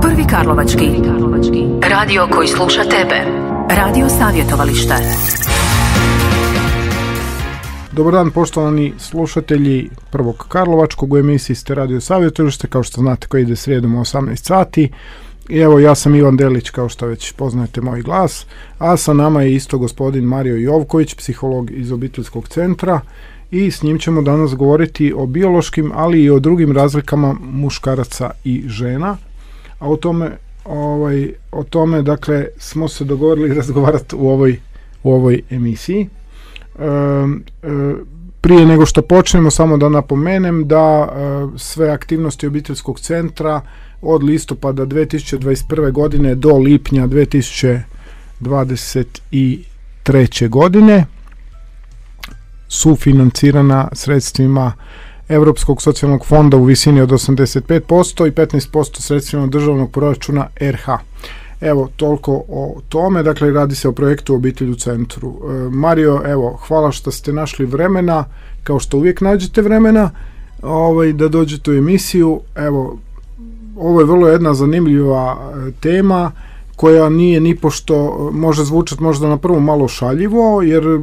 Prvi karlovački. Radio koji sluša tebe. Radio savjetovalište. Dobar dan poštovani slušatelji Prvog karlovačkog, u emisiji ste Radio savjetovalište, kao što znate, koji ide srijedom u 18 sati. I evo, ja sam Ivan Delić, kao što već poznajete moj glas, a sa nama je isto gospodin Mario Jovković, psiholog iz obiteljskog centra, i s njim ćemo danas govoriti o biološkim, ali i o drugim razlikama muškaraca i žena. A o tome dakle smo se dogovorili razgovarati u ovoj emisiji. Prije nego što počnemo, samo da napomenem da sve aktivnosti obiteljskog centra od listopada 2021. godine do lipnja 2023. godine su financirana sredstvima Europskog socijalnog fonda u visini od 85% i 15% sredstvima državnog proračuna RH. Evo, toliko o tome. Dakle, radi se o projektu Obitelj u centru. Mario, evo, hvala što ste našli vremena, kao što uvijek nađete vremena, da dođete u emisiju. Evo, ovo je vrlo jedna zanimljiva tema koja nije nipošto, može zvučati možda na prvu malo šaljivo, jer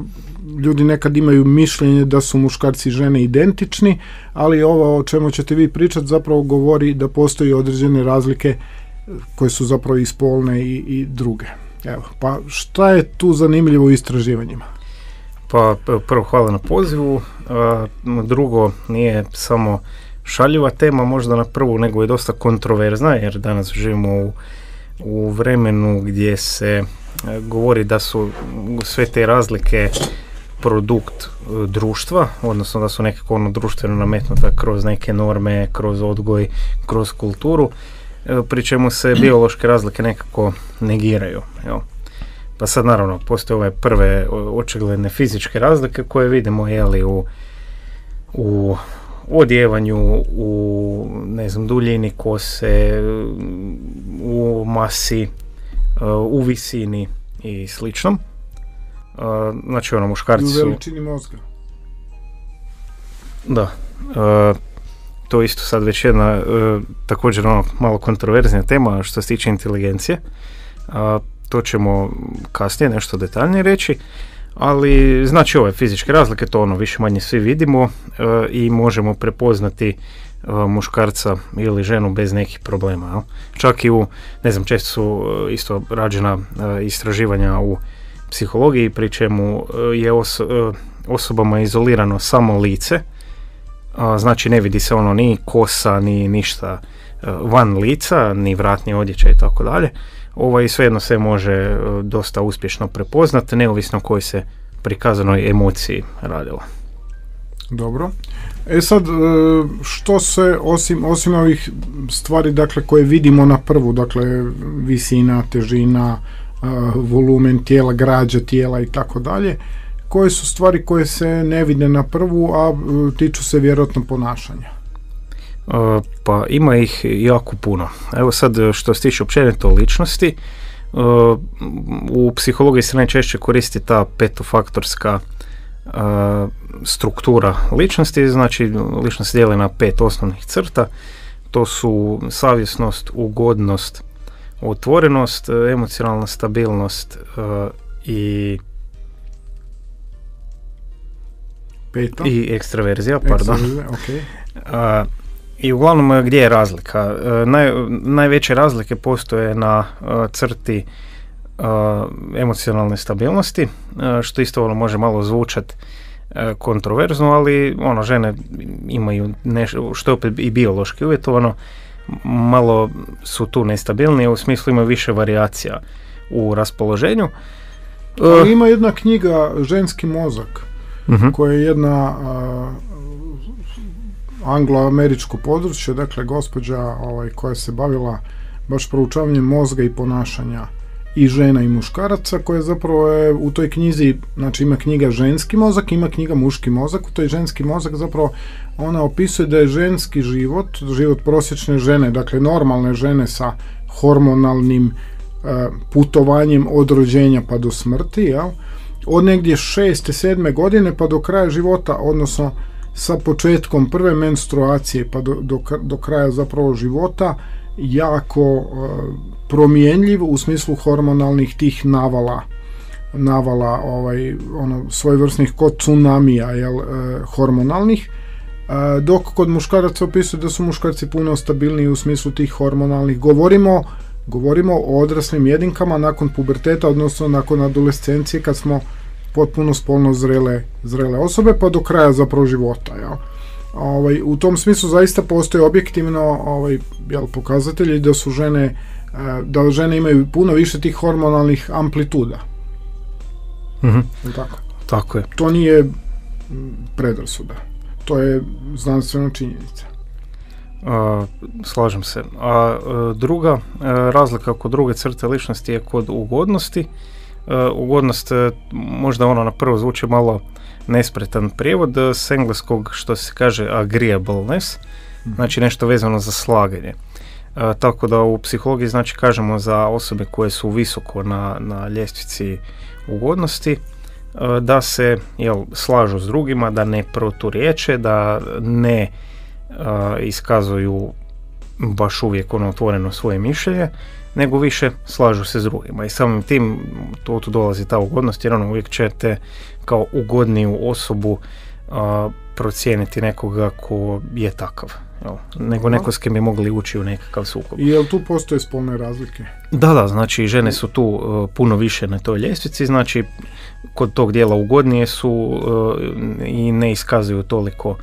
ljudi nekad imaju mišljenje da su muškarci i žene identični, ali ovo o čemu ćete vi pričati zapravo govori da postoji određene razlike koje su zapravo i spolne i druge. Evo, pa šta je tu zanimljivo u istraživanjima? Pa prvo hvala na pozivu, drugo nije samo šaljiva tema možda na prvu, nego je dosta kontroverzna, jer danas živimo u vremenu gdje se govori da su sve te razlike produkt društva, odnosno da su nekako društveno nametnuta kroz neke norme, kroz odgoj, kroz kulturu, pri čemu se biološke razlike nekako negiraju. Evo. Pa sad naravno postoje ove prve očigledne fizičke razlike koje vidimo u odjevanju, u duljini kose, u masi, u visini i sličnom. Znači muškarci su... U veličini mozga. Da. To isto sad već jedna također malo kontroverznija tema što se tiče inteligencije. To ćemo kasnije nešto detaljnije reći. Ali znači ove fizičke razlike, to više manje svi vidimo i možemo prepoznati muškarca ili ženu bez nekih problema. Čak i često su isto rađena istraživanja u psihologiji, pri čemu je osobama izolirano samo lice, znači ne vidi se ni kosa, ni ništa van lica, ni vratni odjećaj i tako dalje. Svejedno se može dosta uspješno prepoznati, neovisno o kojoj se prikazanoj emociji radilo. Dobro. Sad, što se osim ovih stvari, dakle, koje vidimo na prvu, dakle, visina, težina, volumen tijela, građa tijela i tako dalje, koje su stvari koje se ne vide na prvu, a tiču se vjerojatno ponašanja? Pa ima ih jako puno. Evo sad, što se tiče općenito ličnosti, u psihologiji se najčešće koristi ta petofaktorska struktura ličnosti. Znači ličnost se dijeli na 5 osnovnih crta. To su savjesnost, ugodnost, otvorenost, emocionalna stabilnost i ekstraverzija, pardon. Okay. I uglavnom gdje je razlika? Najveće razlike postoje na crti emocionalne stabilnosti, što isto može malo zvučati kontroverzno, ali žene imaju nešto, što je opet i biološki uvjetovano, malo su tu nestabilnije, u smislu imaju više varijacija u raspoloženju. Ali ima jedna knjiga Ženski mozak, koja je jedna anglo-američko područje, dakle gospođa koja se bavila baš proučavanjem mozga i ponašanja i žena i muškaraca, koja zapravo je u toj knjizi, znači ima knjiga Ženski mozak, ima knjiga Muški mozak. U toj Ženski mozak zapravo ona opisuje da je ženski život prosječne žene, dakle normalne žene sa hormonalnim putovanjem od rođenja pa do smrti, od negdje 6. 7. godine pa do kraja života, odnosno sa početkom prve menstruacije pa do kraja zapravo života, jako promjenjiv u smislu hormonalnih tih navala svojevrsnih kod tsunamija, hormonalnih, dok kod muškaraca opisuje da su muškarci puno stabilniji u smislu tih hormonalnih. Govorimo o odraslim jedinkama nakon puberteta, odnosno nakon adolescencije, kad smo potpuno spolno zrele osobe, pa do kraja zapravo života. U tom smislu zaista postoje objektivno pokazatelji da su da žene imaju puno više tih hormonalnih amplituda. Tako je. To nije predrasuda. To je znanstvena činjenica. Slažem se. A druga razlika kod druge crte ličnosti je kod ugodnosti. Ugodnost možda na prvo zvuči malo nespretan prijevod s engleskog, što se kaže agreeableness, znači nešto vezano za slaganje. Tako da u psihologiji znači kažemo za osobe koje su visoko na ljestvici ugodnosti, da se slažu s drugima, da ne proturječe, da ne iskazuju baš uvijek otvoreno svoje mišljenje, nego više slažu se s drugima. I samim tim tu dolazi ta ugodnost, jer uvijek ćete kao ugodniju osobu procijeniti nekoga ko je takav. Nego neko s kim bi mogli ući u nekakav sukob. I jel tu postoje spolne razlike? Da, znači žene su tu puno više na toj ljestvici, znači kod tog dijela ugodnije su i ne iskazuju toliko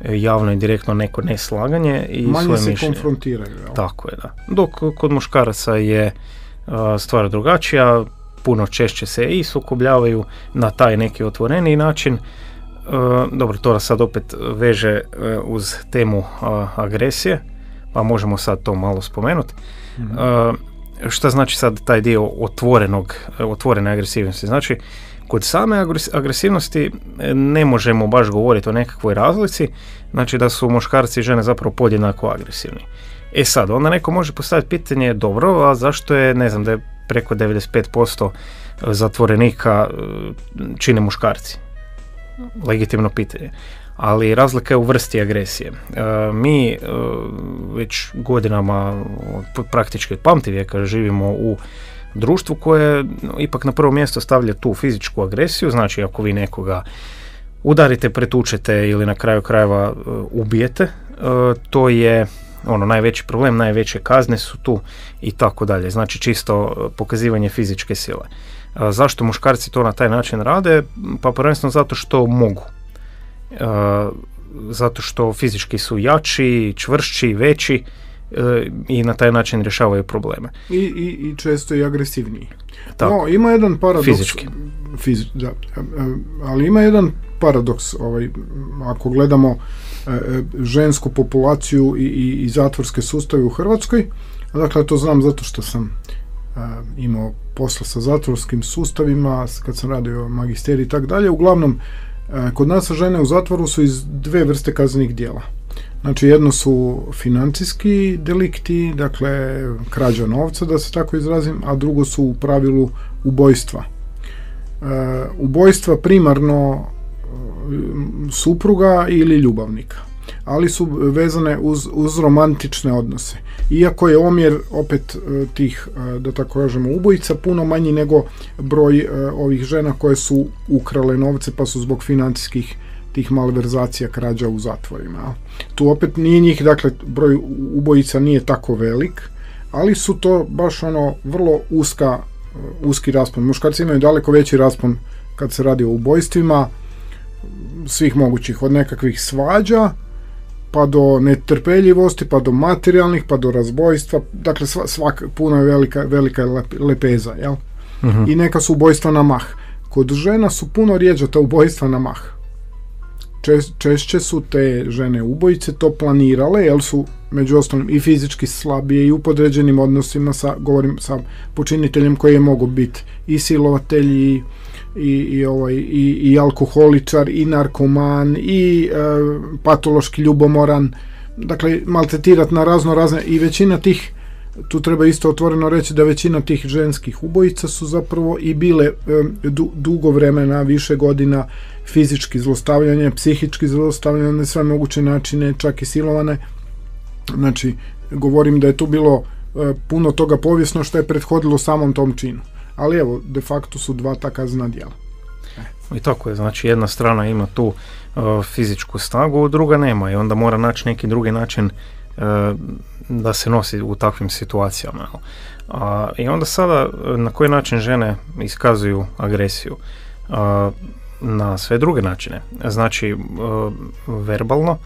javno i direktno neko neslaganje i manje svoje se mišljenje. Konfrontiraju. Tako je, da. Dok kod muškaraca je stvar drugačija, puno češće se i sukobljavaju na taj neki otvoreniji način. Dobro, to nas sad opet veže uz temu agresije, pa možemo sad to malo spomenuti. Šta znači sad taj dio otvorene agresivnosti? Znači, kod same agresivnosti ne možemo baš govoriti o nekakvoj razlici, znači da su muškarci i žene zapravo podjednako agresivni. Sad, onda neko može postaviti pitanje, dobro, a zašto je, ne znam, da je preko 95% zatvorenika čine muškarci? Legitimno pitanje. Ali razlika je u vrsti agresije. Mi već godinama, praktički od pamtivijeka, živimo u društvu koje ipak na prvo mjesto stavlja tu fizičku agresiju, znači ako vi nekoga udarite, pretučete ili na kraju krajeva ubijete, to je najveći problem, najveće kazne su tu i tako dalje. Znači čisto pokazivanje fizičke sile. Zašto muškarci to na taj način rade? Pa prvenstveno zato što mogu. Zato što fizički su jači, čvršći, veći i na taj način rješavaju probleme. I često i agresivniji. Tako. No, ima jedan paradoks. Fizički. Da, ali ima jedan paradoks, ako gledamo žensku populaciju i zatvorske sustave u Hrvatskoj. Dakle, to znam zato što sam imao posla sa zatvorskim sustavima, kad sam radio magisterij i tako dalje. Uglavnom, kod nas žene u zatvoru su iz dve vrste kaznenih djela. Znači, jedno su financijski delikti, dakle krađa novca, da se tako izrazim, a drugo su u pravilu ubojstva. Ubojstva primarno supruga ili ljubavnika, ali su vezane uz romantične odnose. Iako je omjer opet tih, da tako kažemo, ubojica puno manji nego broj ovih žena koje su ukrale novce pa su zbog financijskih tih malverzacija, krađa u zatvorima. Tu opet nije njih, dakle broj ubojica nije tako velik, ali su to baš vrlo uski raspon. Muškarci imaju daleko veći raspon kad se radi o ubojstvima svih mogućih, od nekakvih svađa pa do netrpeljivosti, pa do materijalnih, pa do razbojstva. Dakle, puno je velika lepeza, jel? Uh-huh. I neka su ubojstva na mah. Kod žena su puno rjeđa ta ubojstva na mah. Češće su te žene ubojice to planirale, jer su među ostalim i fizički slabije i u podređenim odnosima govorim sa počiniteljem koji je mogo biti i silovatelj i alkoholičar i narkoman i patološki ljubomoran, dakle maltretirat na razne i većina tih, tu treba isto otvoreno reći da većina tih ženskih ubojica su zapravo i bile dugo vremena, više godina fizički zlostavljanje, psihički zlostavljanje na sve moguće načine, čak i silovane. Znači, govorim da je tu bilo puno toga povijesno što je prethodilo samom tom činu. Ali evo, de facto su dva ta kaznena djela. I tako je, znači jedna strana ima tu fizičku snagu, druga nema i onda mora naći neki drugi način da se nosi u takvim situacijama. I onda sada na koji način žene iskazuju agresiju? Na sve druge načine. Znači verbalno,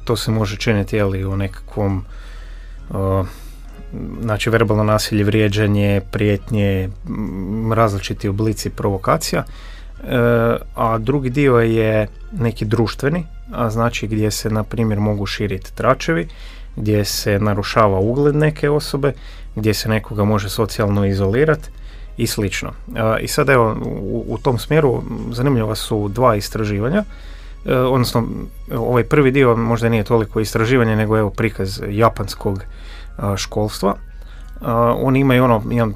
to se može činiti u nekakvom znači verbalno nasilje, vrijeđanje, prijetnje, različiti oblici provokacija, a drugi dio je neki društveni, a znači gdje se na primjer mogu širiti tračevi, gdje se narušava ugled neke osobe, gdje se nekoga može socijalno izolirati i slično. I sad evo u tom smjeru zanimljiva su dva istraživanja, odnosno ovaj prvi dio možda nije toliko istraživanje nego evo prikaz japanskog školstva. Oni imaju jedan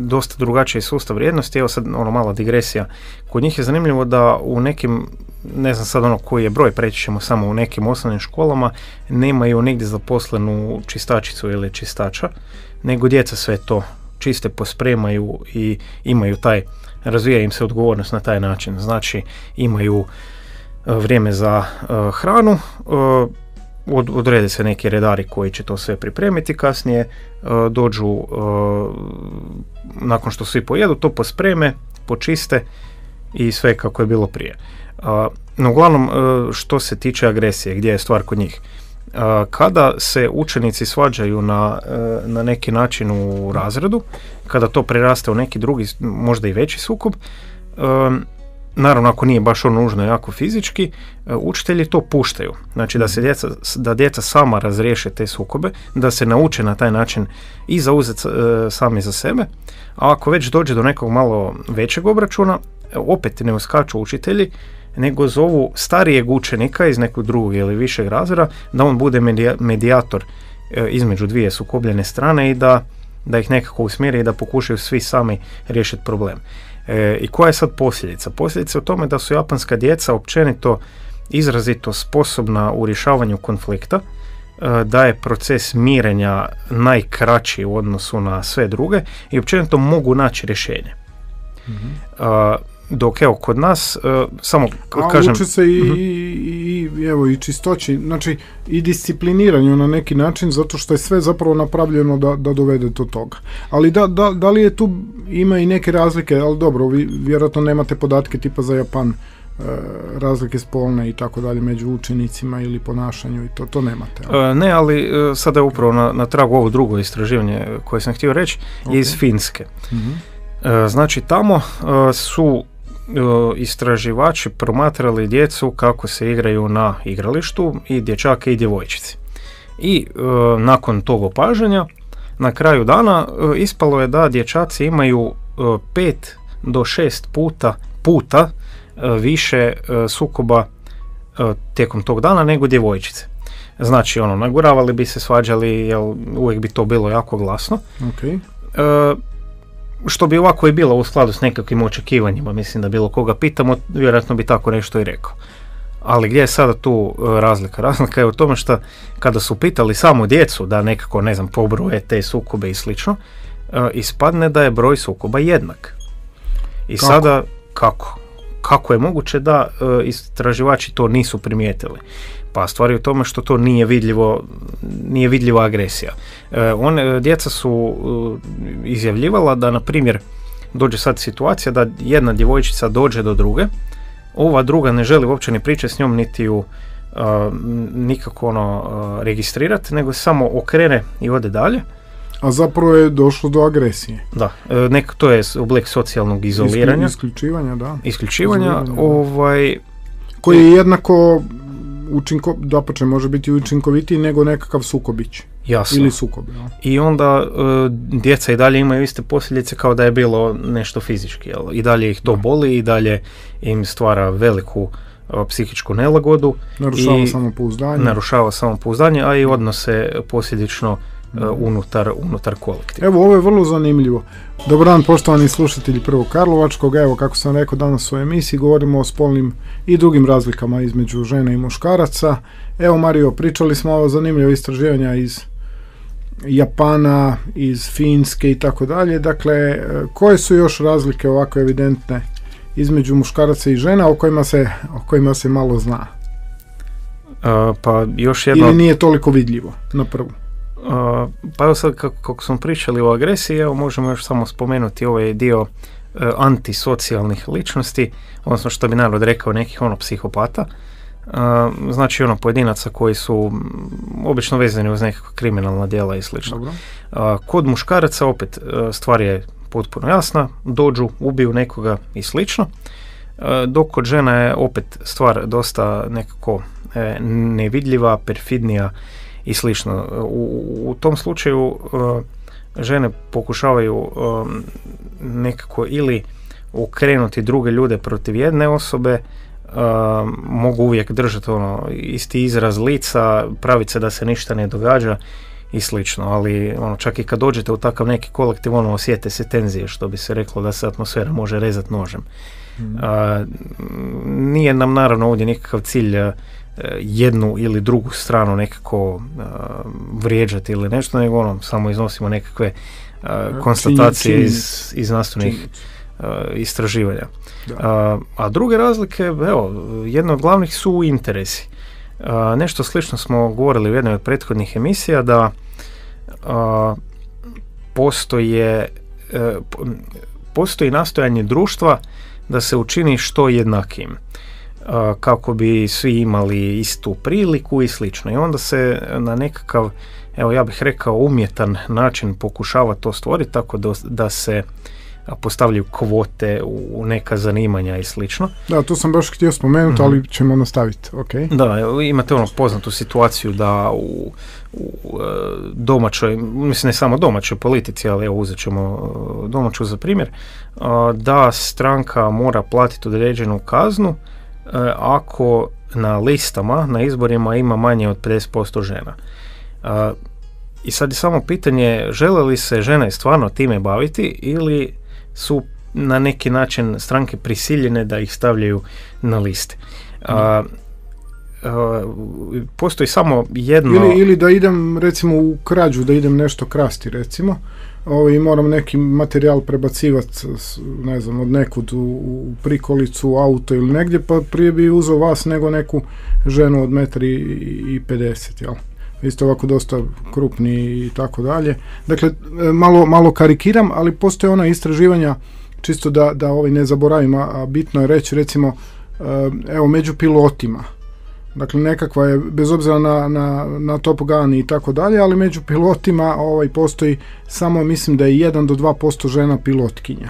dosta drugačiji sustav vrijednosti. Evo sad mala digresija. Kod njih je zanimljivo da u nekim, ne znam sad koji je broj, preći ćemo samo u nekim osnovnim školama, nemaju nigdje zaposlenu čistačicu ili čistača, nego djeca sve to čiste, pospremaju i imaju razvija im se odgovornost na taj način. Znači imaju vrijeme za hranu, odrede se neki redari koji će to sve pripremiti, kasnije dođu, nakon što svi pojedu, to pospreme, počiste i sve kako je bilo prije. No uglavnom, što se tiče agresije, gdje je stvar kod njih? Kada se učenici svađaju na neki način u razredu, kada to preraste u neki drugi, možda i veći sukob, naravno ako nije baš nužno jako fizički, učitelji to puštaju. Znači da djeca sama razriješe te sukobe, da se nauče na taj način i zauzeti sami za sebe, a ako već dođe do nekog malo većeg obračuna, opet ne uskaču učitelji, nego zovu starijeg učenika iz nekog drugog ili višeg razreda da on bude medijator između dvije sukobljene strane i da ih nekako usmjeri i da pokušaju svi sami riješiti problem. I koja je sad posljedica? Posljedica je u tome da su japanska djeca općenito izrazito sposobna u rješavanju konflikta, da je proces mirenja najkraći u odnosu na sve druge i općenito mogu naći rješenje. Mm-hmm. Dok evo kod nas samo kažem... uče se i čistoći, znači i discipliniranju na neki način, zato što je sve zapravo napravljeno da dovede do toga. Ali da li je tu, ima i neke razlike, ali dobro, vi vjerojatno nemate podatke tipa za Japan, razlike spolne i tako dalje među učenicima ili ponašanju i to nemate. Ne, ali sada je upravo na tragu ovo drugo istraživanje koje sam htio reći, je iz Finske. Mm-hmm. Znači tamo su istraživači promatrali djecu kako se igraju na igralištu, i dječake i djevojčice. I nakon tog opažanja na kraju dana ispalo je da dječaci imaju 5 do 6 puta više sukoba tijekom tog dana nego djevojčice. Znači naguravali bi se, svađali, jer uvijek bi to bilo jako glasno. Okay. Što bi ovako i bilo u skladu s nekakvim očekivanjima, mislim da bilo koga pitamo, vjerojatno bi tako nešto i rekao. Ali gdje je sada tu razlika? Razlika je u tome što kada su pitali samo djecu da nekako, pobroje te sukobe i slično, ispadne da je broj sukoba jednak. I kako? Sada, kako je moguće da istraživači to nisu primijetili? Pa stvar je u tome što to nije vidljiva agresija. Djeca su izjavljivala da, na primjer, dođe sad situacija da jedna djevojčica dođe do druge, ova druga ne želi uopće ni pričati s njom, niti ju nikako registrirati, nego samo okrene i ode dalje. A zapravo je došlo do agresije. Da, to je oblik socijalnog izoliranja. Isključivanja, da. Isključivanja, koji je jednako dapače može biti učinkovitiji nego nekakav sukobić. Jasno. Ili sukob. Ja. I onda djeca i dalje imaju iste posljedice kao da je bilo nešto fizički. Jel? I dalje ih to boli, i dalje im stvara veliku psihičku nelagodu. Narušava samopouzdanje, a i odnose posljedično unutar kolektiva. Evo, ovo je vrlo zanimljivo. Dobar dan, poštovani slušatelji Prvog Karlovačkog. Evo, kako sam rekao, danas u emisiji govorimo o spolnim i drugim razlikama između žena i muškaraca. Evo, Mario, pričali smo o zanimljivo istraživanja iz Japana, iz Finske i tako dalje. Dakle, koje su još razlike ovako evidentne između muškaraca i žena o kojima se malo zna? Pa još jedno... Ili nije toliko vidljivo na prvu? Pa evo sad kako smo pričali o agresiji, evo možemo još samo spomenuti ovaj dio antisocijalnih ličnosti, odnosno što bi narod rekao nekih psihopata. Znači pojedinaca koji su obično vezani uz nekakva kriminalna djela i slično. Kod muškaraca opet stvar je potpuno jasna, dođu, ubiju nekoga i slično, dok kod žena je opet stvar dosta nekako nevidljiva, perfidnija i slično. U tom slučaju žene pokušavaju nekako ili okrenuti druge ljude protiv jedne osobe, mogu uvijek držati isti izraz lica, praviti se da se ništa ne događa i slično, ali čak i kad dođete u takav neki kolektiv, osjete se tenzije, što bi se reklo da se atmosfera može rezati nožem. Nije nam naravno ovdje nikakav cilj jednu ili drugu stranu nekako vrijeđati ili nešto, nego samo iznosimo nekakve konstatacije iz znanstvenih istraživanja. A druge razlike, jedna od glavnih su interesi. Nešto slično smo govorili u jednoj od prethodnih emisija, da postoji nastojanje društva da se učini što jednakijim, kako bi svi imali istu priliku i slično. I onda se na nekakav, ja bih rekao, umjetan način pokušava to stvoriti, tako da se postavljaju kvote u neka zanimanja i slično. Da, to sam baš htio spomenuti, ali ćemo nastaviti. Okay. Da, imate poznatu situaciju da u domaćoj, mislim ne samo domaćoj politici, ali uzet ćemo domaću za primjer, da stranka mora platiti određenu kaznu ako na listama, na izborima ima manje od 50% žena. I sad je samo pitanje, žele li se žene stvarno time baviti ili su na neki način stranke prisiljene da ih stavljaju na liste. Postoji samo jedno... Ili da idem recimo u krađu, da idem nešto krasti recimo, i moram neki materijal prebacivati, ne znam, od nekud u prikolicu, u auto ili negdje, pa prije bi uzeo vas nego neku ženu od 1,50 m, jel? Vi ste ovako dosta krupni i tako dalje. Dakle, malo karikiram, ali postoje ona istraživanja, čisto da ne zaboravim, a bitno je reći, recimo, među pilotima. Dakle, nekakva je, bez obzira na Top Gun i tako dalje, ali među pilotima postoji samo, mislim da je 1 do 2% žena pilotkinja.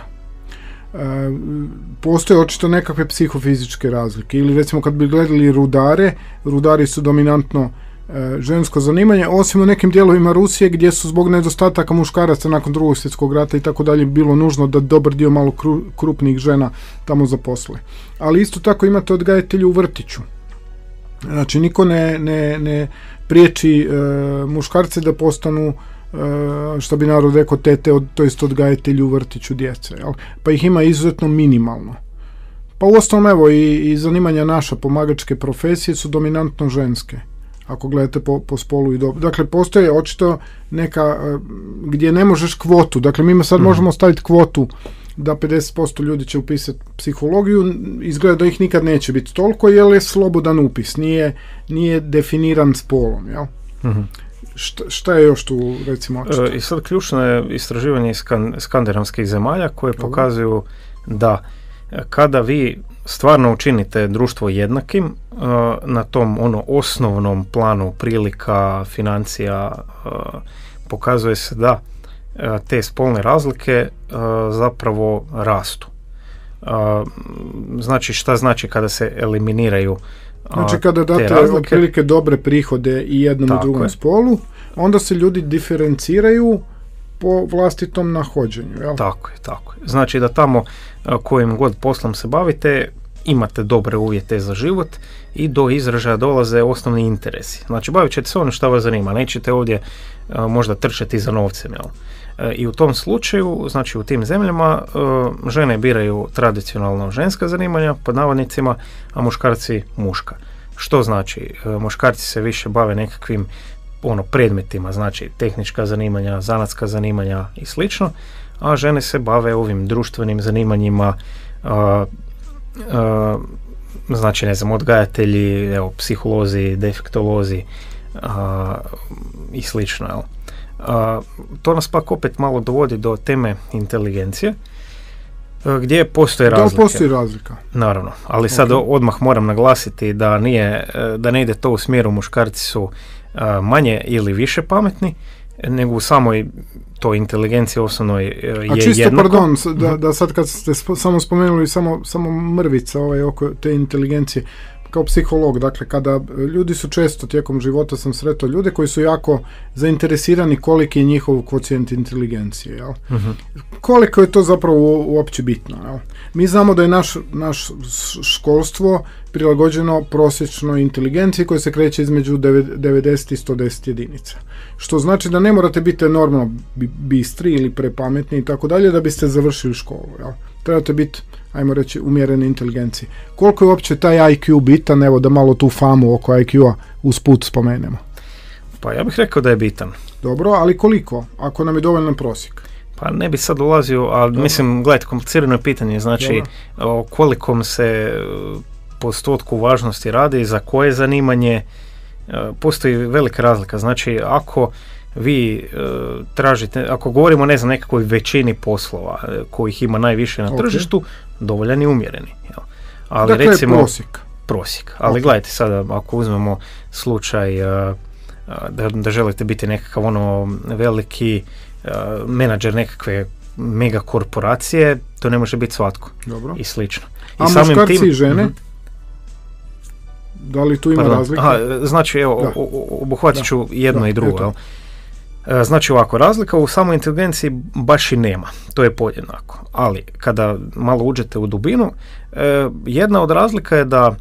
Postoje očito nekakve psihofizičke razlike. Ili recimo kad bi gledali rudari su dominantno žensko zanimanje, osim u nekim dijelovima Rusije gdje su zbog nedostataka muškaraca nakon Drugog svjetskog rata i tako dalje bilo nužno da dobar dio malo krupnih žena tamo zaposle. Ali isto tako imate odgajatelji u vrtiću. Znači niko ne priječi muškarce da postanu, što bi narod rekao, tete, to jest odgajatelji u vrtiću djece. Jel? Pa ih ima izuzetno minimalno. Pa uostalom i zanimanja naša pomagačke profesije su dominantno ženske, ako gledate po spolu i dobu. Dakle, postoje očito neka gdje ne možeš kvotu. Dakle, mi sad možemo staviti kvotu da 50% ljudi će upisati psihologiju, izgleda da ih nikad neće biti toliko, jer je slobodan upis, nije definiran spolom, jel? Šta je još tu, recimo, očito? I sad ključno je istraživanje iz skandinavskih zemalja koje pokazuju da kada vi stvarno učinite društvo jednakim na tom osnovnom planu prilika, financija, pokazuje se da te spolne razlike zapravo rastu. Znači, šta znači kada se eliminiraju Znači kada date otprilike dobre prihode i jednom i drugom spolu, onda se ljudi diferenciraju po vlastitom nahođenju, jel? Tako je. Znači da tamo kojim god poslom se bavite, imate dobre uvjete za život i do izražaja dolaze osnovni interesi. Znači bavit ćete se ono što vas zanima, nećete ovdje možda trčati za novcem, jel? I u tom slučaju, znači u tim zemljama, žene biraju tradicionalno ženska zanimanja, pod navodnicima, a muškarci muška. Što znači? Muškarci se više bave nekakvim predmetima, znači tehnička zanimanja, zanatska zanimanja i slično, a žene se bave ovim društvenim zanimanjima, znači ne znam, odgajatelji, evo, psiholozi, defektolozi i slično, jel? To nas pak opet malo dovodi do teme inteligencije, gdje postoje razlike. Da, postoji razlika. Naravno, ali sad odmah moram naglasiti da ne ide to u smjeru muškarci su manje ili više pametni, nego u samoj toj inteligenciji osnovnoj je jednako. A čisto, pardon, da sad kad ste samo spomenuli samo mrvica oko te inteligencije, kao psiholog, dakle, kada ljudi su često tijekom života sam sretao ljude koji su jako zainteresirani koliki je njihov kvocijent inteligencije, jel? Uh-huh. Koliko je to zapravo uopće bitno, jel? Mi znamo da je naš školstvo prilagođeno prosječnoj inteligenciji koja se kreće između 90 i 110 jedinica. Što znači da ne morate biti enormno bistri ili prepametni i tako dalje da biste završili školu, jel? Trebate biti, ajmo reći, umjerene inteligencije. Koliko je uopće taj IQ bitan, evo da malo tu famu oko IQ-a usput spomenemo? Pa ja bih rekao da je bitan. Dobro, ali koliko, ako nam je dovoljan prosjek? Pa ne bi sad ulazio, ali dobro. Mislim, gledajte, komplicirano je pitanje, znači o kolikom se postotku važnosti radi, za koje zanimanje, postoji velika razlika. Znači, ako vi tražite, ako govorimo, ne znam, nekakvoj većini poslova kojih ima najviše na tržištu, dovoljan i umjereni. Jel? Ali dakle, recimo prosjek. Ali gledajte sada, ako uzmemo slučaj da želite biti nekakav veliki menadžer nekakve mega korporacije, to ne može biti svatko. Dobro. I slično. A muškarci i žene? Da li tu ima razlike? Znači, evo, obuhvatit ću jedno i drugo. Znači ovako, razlika u samoj inteligenciji baš i nema, to je podjednako, ali kada malo uđete u dubinu, jedna od razlika je da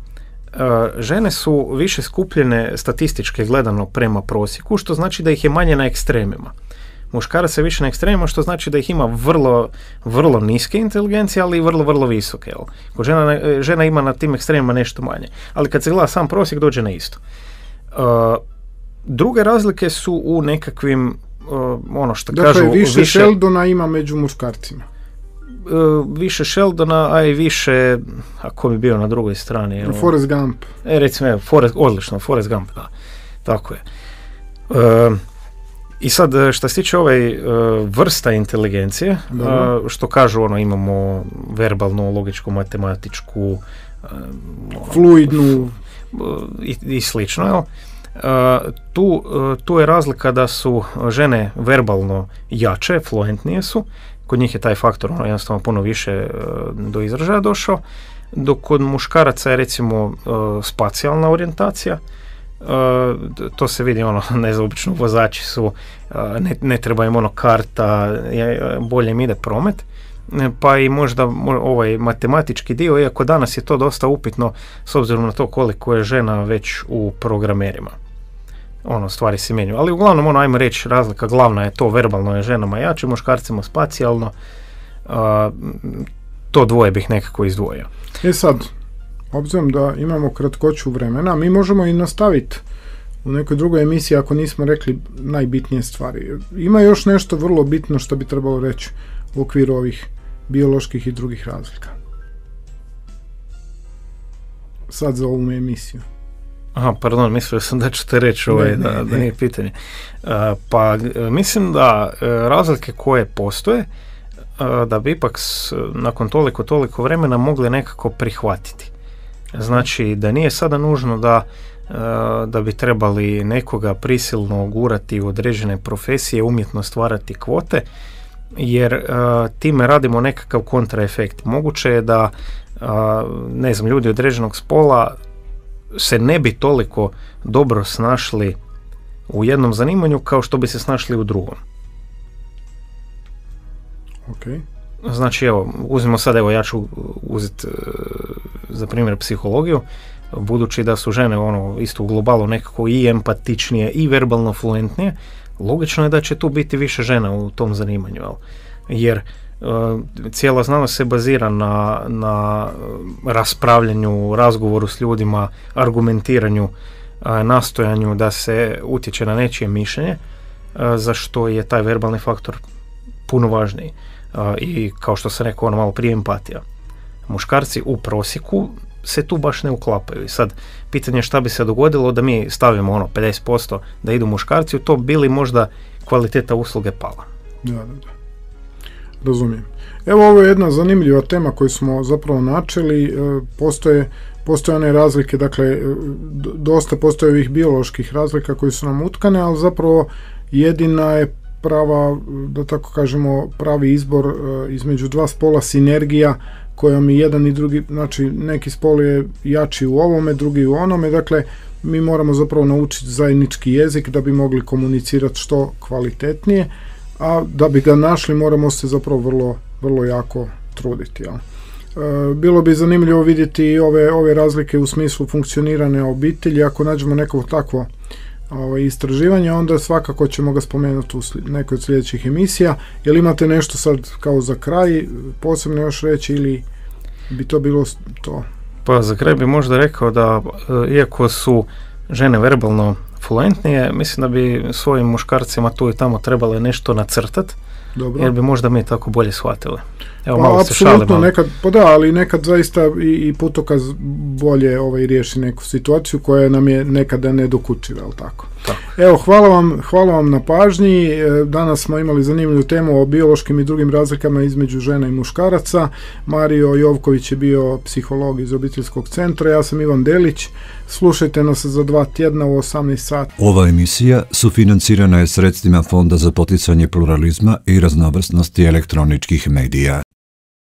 žene su više skupljene statistički gledano prema prosjeku, što znači da ih je manje na ekstremima. Muškarac je više na ekstremima, što znači da ih ima vrlo, vrlo niske inteligencije, ali i vrlo, vrlo visoke. Jel? Kod žena ima na tim ekstremima nešto manje, ali kad se gleda sam prosjek dođe na isto. Druge razlike su u nekakvim, što dakle, kažu... više Sheldona ima među muškarcima. Više Sheldona, a i više, ako bi bio na drugoj strani... Forrest Gump. Recimo, odlično, Forrest Gump, da. Tako je. I sad, što se tiče vrsta inteligencije, što kažu, imamo verbalnu, logičku, matematičku... fluidnu... I slično, jel? Tu je razlika da su žene verbalno jače, fluentnije su, kod njih je taj faktor jednostavno puno više do izražaja došao, dok kod muškaraca je recimo spacijalna orijentacija, to se vidi, ne znam, obično vozači su, ne treba im karta, bolje im ide promet, pa i možda ovaj matematički dio, iako danas je to dosta upitno s obzirom na to koliko je žena već u programerima. Stvari se mijenjaju. Ali uglavnom, ajmo reći, razlika glavna je to, verbalno je ženama jače, muškarcima spacijalno. To dvoje bih nekako izdvojio. Sad, obzirom da imamo kratkoću vremena, mi možemo i nastaviti u nekoj drugoj emisiji ako nismo rekli najbitnije stvari. Ima još nešto vrlo bitno što bi trebalo reći u okviru ovih bioloških i drugih razlika. Sad za ovu emisiju. Aha, pardon, mislio sam da ćete reći da nije pitanje. Pa mislim da razlike koje postoje, da bi ipak nakon toliko vremena mogli nekako prihvatiti. Znači da nije sada nužno da bi trebali nekoga prisilno gurati u određene profesije, umjetno stvarati kvote, jer time radimo nekakav kontraefekt. Moguće je da ne znam, ljudi određenog spola se ne bi toliko dobro snašli u jednom zanimanju kao što bi se snašli u drugom. Okay. Znači, uzmimo sad, ja ću uzeti za primjer psihologiju, budući da su žene isto u globalu nekako i empatičnije i verbalno fluentnije, logično je da će tu biti više žena u tom zanimanju, jer cijela znanost se bazira na raspravljanju, razgovoru s ljudima, argumentiranju, nastojanju da se utječe na nečije mišljenje, za što je taj verbalni faktor puno važniji. I kao što sam rekao malo prije, empatija. Muškarci u prosjeku se tu baš ne uklapaju. I sad, pitanje je šta bi se dogodilo da mi stavimo 50% da idu muškarci, u to bili možda kvaliteta usluge pala. Da. Razumijem. Evo, ovo je jedna zanimljiva tema koju smo zapravo načeli. Postoje one razlike, dakle, dosta postoje ovih bioloških razlika koji su nam utkane, ali zapravo jedina je prava, da tako kažemo, pravi izbor između dva spola, sinergija kojom i jedan i drugi, znači neki spol je jači u ovome, drugi u onome, dakle mi moramo zapravo naučiti zajednički jezik da bi mogli komunicirati što kvalitetnije, a da bi ga našli moramo se zapravo vrlo, vrlo jako truditi. Ja. Bilo bi zanimljivo vidjeti ove razlike u smislu funkcioniranja obitelji. Ako nađemo neko takvo istraživanje, onda svakako ćemo ga spomenuti u nekoj od sljedećih emisija. Jel imate nešto sad kao za kraj posebno još reći ili bi to bilo to? Pa za kraj bi možda rekao da iako su žene verbalno fluentnije, mislim da bi svojim muškarcima tu i tamo trebale nešto nacrtati. Dobro. Jer bi možda mi tako bolje shvatili. Evo, pa, malo se šalimo. Nekad, pa da, ali nekad zaista i putokaz bolje riješi neku situaciju koja nam je nekada nedokučiva, jel tako? Tako. Evo, hvala vam na pažnji. Danas smo imali zanimljivu temu o biološkim i drugim razlikama između žena i muškaraca. Mario Jovković je bio psiholog iz obiteljskog centra, ja sam Ivan Delić. Slušajte nas za 2 tjedna u 18 sati. Ova emisija sufinancirana je sredstvima Fonda za poticanje pluralizma i raznovrsnosti elektroničkih medija.